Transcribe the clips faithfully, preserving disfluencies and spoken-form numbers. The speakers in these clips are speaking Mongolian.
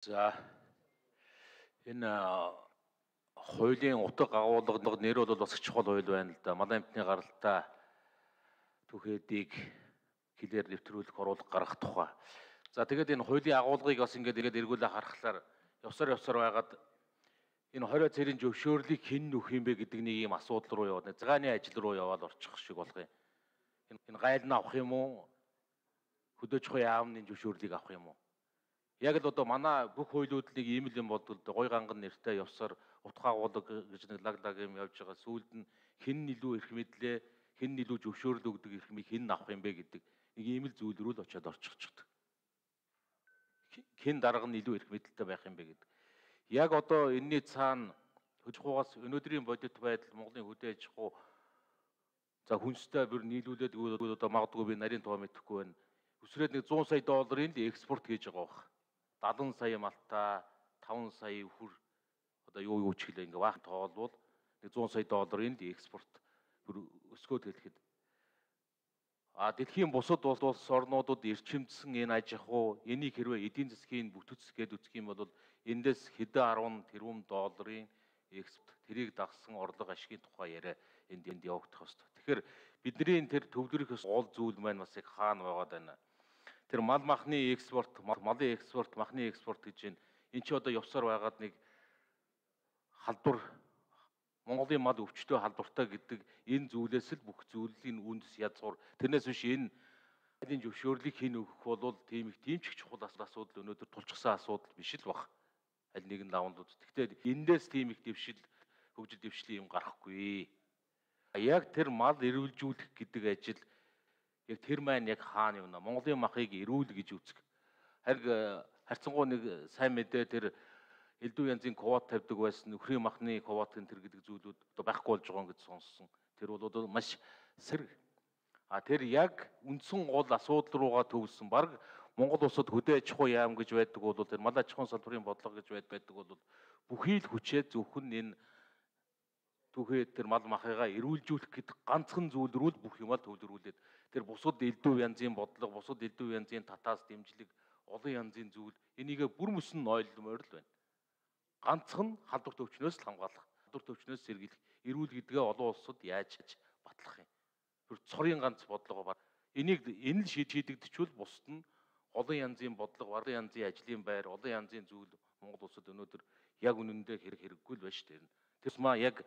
За энэ хуулийн утга агуулга нэр бол бас чухал хууль байна л да. Малын амтны гаралтай түүхээдийг хилээр нэвтрүүлэх оруулах гаргах тухай. За тэгээд энэ хуулийн агуулгыг бас ингээд ингээд эргүүлээ харахаар явсаар явсаар байгаад энэ хорой цэрийн зөвшөөрлийг хэн нөх юм бэ гэдэг нэг юм асуудал руу яваад згааны ажил руу яваад орчих шиг болох юм. Энэ гайл нь авах юм уу? Хөдөөж хой яамны зөвшөөрлийг авах юм уу? Яг л одоо манай бүх хуулиуд нэг ийм л юм болдог л гой ганган нэртэй явсаар утга агуулга гэж нэг лаг лаг юм явж байгаа. Сүүлд нь хэн илүү эрх мэдлээ, хэн илүү зөвшөөрөл өгдөг эрх мэд хэн авах юм бэ гэдэг нэг ийм л зүйл рүү л очиад орчихчихдаг. Хэн дарга нь илүү эрх мэдэлтэй байх юм бэ гэдэг. Яг одоо энэний цаана хөдөлгөөс өнөөдрийн бодит байдал Монголын хөдөө аж ахуй за хүнстэй бүр нийлүүлээд өгөөд одоо магадгүй би нарийн тоо мэдэхгүй байна. Өсрээд нэг зуун сая долларын л экспорт хийж байгаа бох. дадлан сая малта, таван сая хүр одоо юу юу ч гэлээ ингээ баахан тоолвол нэг зуун сая долларын л экспорт өсгөөд хэлэхэд а дэлхийн бусад улс орнуудад эрчимдсэн энэ аж ахуй энийг хэрвээ эдийн засгийн бүтц гээд үзэх юм бол эндээс хэдэн арван тэрбум долларын экспорт тэрийг дагсан орлого ашигын тухай яриа энд энд явагдах хэвээр. Тэгэхээр бидний тэр төвлөрөх гол зүйл маань бас яг хаана байгаад байна. Тэр мал махны экспорт, малын экспорт, махны экспорт гэж байна. Энд чи одоо явсаар байгаад нэг халдвар Монголын мал өвчтөе халдвартай гэдэг энэ зүйлээс л бүх зүйлийн үндэс язгуур. Тэрнээс биш энэ энэ зөвшөөрлийг хэн өгөх бол тийм их тийм ч их чухал асуудал өнөөдөр тулчсан асуудал биш л баг. Аль нэгэн лавнууд. Гэхдээ эндээс тийм их дэвшил хөгжил дэвшлийн юм гарахгүй. Яг тэр мал эрүүлжүүлэх гэдэг ажил яг тэр маань яг хаана юм нэ? Монголын махыг эрүүл гэж үзэх. Харин харьцангуй нэг сайн мэдээ тэр элдв янзын квот тавьдаг байсан нөхрийн махны квот энэ төр гэдэг зүйлүүд одоо байхгүй болж байгаа гэж сонссон. Тэр бол одоо маш сэрэг. А тэр яг үндсэн гол асуудал руугаа төвлөсөн. Бараг Монгол улсад хөдөө аж ахуй яам гэж байдаг бол тэр мал аж ахуйн салбарын бодлого гэж байдаг бол бүхий л хүчээ зөвхөн энэ түүхээ тэр мал махыгаа эрүүлжүүлэх гэдэг ганцхан зүйл рүү л бүх юмаа төвлөрүүлээд тэр бусад элдв янзын бодлого, бусад элдв янзын татаас дэмжлэг, олон янзын зүйл энийгээ бүр мөсөн ойлгомоор л байна. Ганцхан халдвар төвчнөөс л хамгаалах, халдвар төвчнөөс сэргийлэх, эрүүл гэдгээ олон улсад яаж батлах юм. Тэр цорын ганц бодлого бар. Энийг энэ л шийдэгдчихвэл бусд нь олон янзын бодлого, олон янзын ажлын байр, олон янзын зүйл Монгол улсад өнөөдөр яг үнэндээ хэрэг хэрэггүй л байна шүү дээ. Тэс маа яг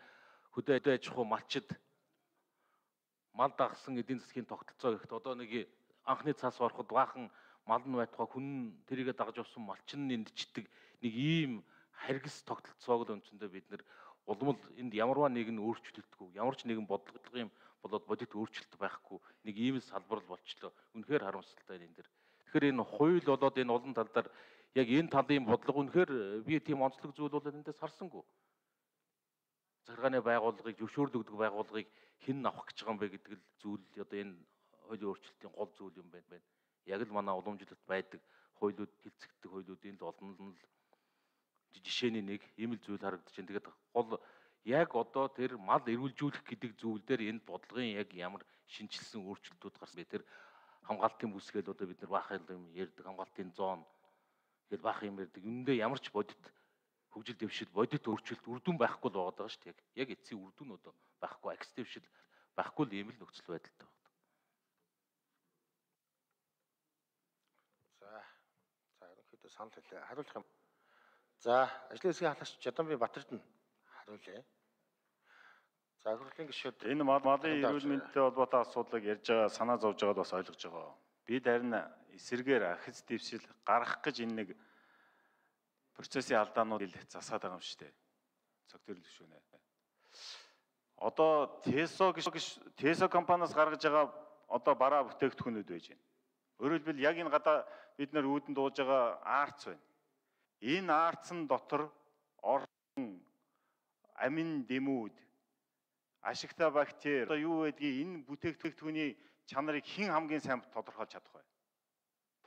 хөдөө аж ахуй малчид мал дагсан эдийн засгийн тогтолцоо ихт одоо нэг анхны цаас ороход баахан мал нь байтугай хүн тэрийгэ дагж авсан малчин нэндчдэг нэг ийм харгас тогтолцоог л үндсэндээ бид нэр улмал энд ямарваа нэгэн өөрчлөлтгүй ямар ч нэгэн бодлогын болоод бодит өөрчлөлт байхгүй нэг ийм салбар л болчлоо. Үнэхээр харамсалтай энэ дэр. Тэгэхээр энэ хууль болоод энэ олон талдаар яг энэ талын бодлого үнэхээр би тийм онцлог зүйл бол эндээс харсангүй. Захиргааны байгууллагыг зөвшөөрөл өгдөг байгууллагыг хэн авах гэж байгаа юм бэ гэдэг л зүйл одоо энэ хуулийн өөрчлөлтийн гол зүйл юм байна. Яг л манай уламжлалт байдаг хуулиуд хилцэгдэх хуулиудын л олон л жишээний нэг ийм л зүйл харагдаж байна. Тэгээд гол яг одоо тэр мал эрүүлжүүлэх гэдэг зүйл дээр энэ бодлогын яг ямар шинжилсэн өөрчлөлтүүд гарсан бэ? Тэр хамгаалтын бүсгээл одоо бид нар баах юм ярьдаг хамгаалтын зоон гэж баах юм ярьдаг. Үүндээ ямар ч бодит хөгжил дэвшил бодит өөрчлөлт үрдүн байхгүй л байгаа шүү дээ. Яг эцсийн үрдүн одоо байхгүй, акс дэвшил байхгүй л ийм л нөхцөл байдалтай байна. За, за ерөнхийдөө санал хэлээ. Хариулах юм. За, ажлын хэсгийн халагч Жаданбий Батэрд нь хариулъя. За, хөрлийн гишүүд энэ малын эрүүл мэндтэй холбоотой асуудлыг ярьж байгаа, санаа зовж байгаад бас ойлгож байгаа. Бид харин эсэргээр ахиц дэвшил гаргах гэж энэ нэг процессын алдаанууд засаад байгаа юм шүү дээ. Цогтөрөл гүшүүнэ. Одоо Тесо гэж Тесо компаниас гаргаж байгаа одоо бараа бүтээгдэхүүнүүд байж байна. Өөрөөр хэлбэл яг энэ гадаа бид нар үүдэн дууж байгаа арц байна. Энэ арцсан дотор орсон амин дэмүүд, ашигтай бактери одоо юу байдгийг энэ бүтээгдэхүүний чанарыг хэн хамгийн сайн тодорхойлж чадах вэ?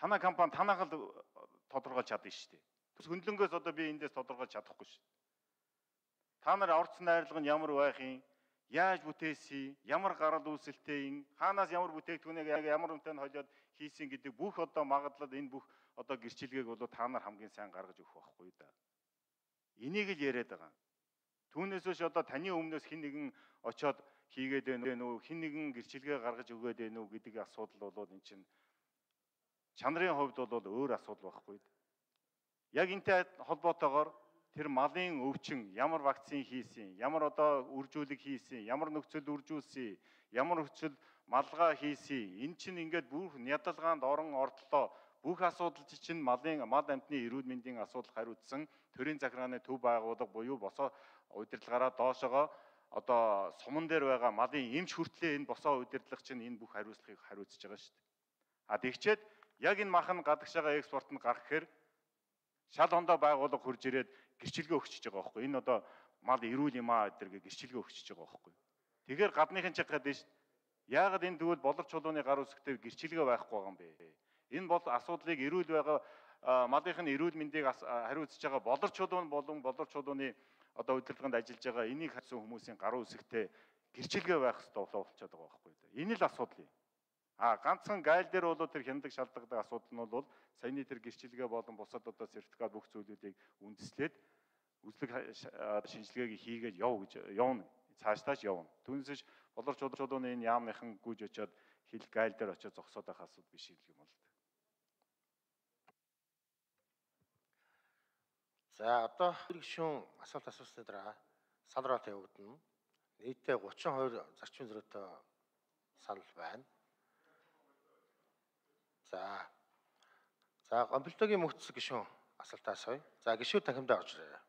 Танай компани танайх л тодорхойлж чадна шүү дээ. Хөндлөнгөөс одоо би эндээс тодорхойлж чадахгүй шүү. Та нар орц найрлага нь ямар байх юм? Яаж бүтээсэн, ямар гарал үүсэлтэй юм, хаанаас ямар бүтээгдэхүүнийг ямар үнэтэй холиод хийсэн гэдэг бүх одоо магадлал энэ бүх одоо гэрчилгээг бол та нар хамгийн сайн гаргаж өгөх байхгүй да. Энийг л яриад байгаа. Түүнээс биш одоо таны өмнөөс хэн нэгэн очиод хийгээд байна уу, хэн нэгэн гэрчилгээ гаргаж өгөөд байна уу гэдэг асуудал бол эн чинь чанарын хувьд бол өөр асуудал байхгүй. Яг энтэй холбоотойгоор тэр малын өвчин ямар вакцин хийсэн, ямар одоо үржүүлэг хийсэн, ямар нөхцөл үржүүлсэн, ямар нөхцөл малгай хийсэн. Энэ чинь ингээд бүх ядалгаанд орон ордлоо бүх асуудал чинь малын мал амьтны эрүүл мэндийн асуудал хариуцсан төрийн захиргааны төв байгууллага буюу босоо удирдлагаараа доошогоо одоо суман дээр байгаа малын эмч хүртлээ энэ босоо удирдлага чинь энэ бүх хариуцлагыг хариуцж байгаа шүү дээ. А тэгчээд яг энэ махан гадагш байгаа экспорт нь гарах гэхээр шал ондоо байгууллага хурж ирээд гэрчилгээ өгчөж байгаа байхгүй. Энэ одоо мал эрүүл юм аа гэдэргээ гэрчилгээ өгчөж байгаа байхгүй. Тэгэхээр гадныхын чиг гадаг шүү. Яагаад энэ тэгвэл болор чулууны гар үсгтэй гэрчилгээ байхгүй байгаа юм бэ? Энэ бол асуудлыг эрүүл байгаа малынхын эрүүл мэндийг хариуцж байгаа болор чулуун болон болор чулууны одоо удирдлаганд ажиллаж байгаа энийг хатсан хүмүүсийн гар үсгтэй гэрчилгээ байх хэрэгтэй болчиход байгаа байхгүй. Энэ л асуудал юм. А ганцхан гайл дээр бол тэр хяндаг шалдагдаг асуудал нь бол саяны тэр гэрчилгээ болон бусад одоо сертификат бүх зүйлүүдийг үндэслээд үзлэг шинжилгээг хийгээд яв гэж явна. Цаашдаа ч явна. Түүнээс болор чулууны энэ яамныхан гүйж очиод хил гайл дээр очиод зогсоод байх асуудал биш юм бол. За одоо гишүүн асуулт асуусны дараа санал тавигдана. Нийтдээ гучин хоёр зарчим зөрүүтэй санал байна. За. За гомбилтогийн мөхцөг гишүүн асуултаа асууя. За гишүүд танхимдаа орж ирээ.